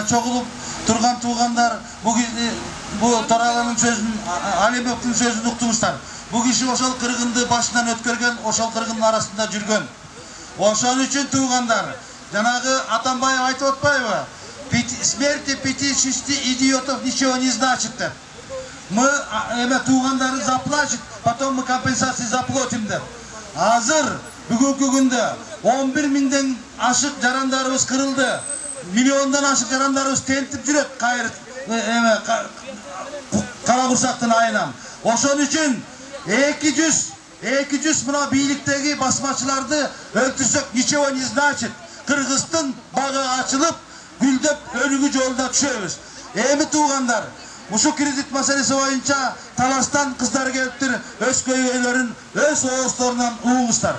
чогулуп турган туугандар, bu Toralanın sözün, Alibek'in sözünü uktunguzlar. Bu kişi oşal kırgındı başından ötkörgen, oşal kırgının arasında жүргөн. Oşal üçün tuğanlar, janagı Атамбаев айтып отпайбы? Смерти пяти шести идиотов ничего не значит. Мы туğандары заплатит, потом мы компенсации заплатим деп. Азыр бүгүнкү күндө 11 миңден ашык жарандарыбыз кырылды. Миллиондан ашык жарандарыбыз тентип жүрөт кайры кара курсактын айынан. Ошон үчүн 200 мына бийликтеги басмачыларды өлтүрсөк ничего не значит. Кыргыздын бага ачылып, гүлдөп өнүгүү жолуна түшөбүз. Эми туугандар, ушул кредит маселеси боюнча талаштан кыздар келиптир, өз көйгөйлөрүн өз оозторунан угуңуздар.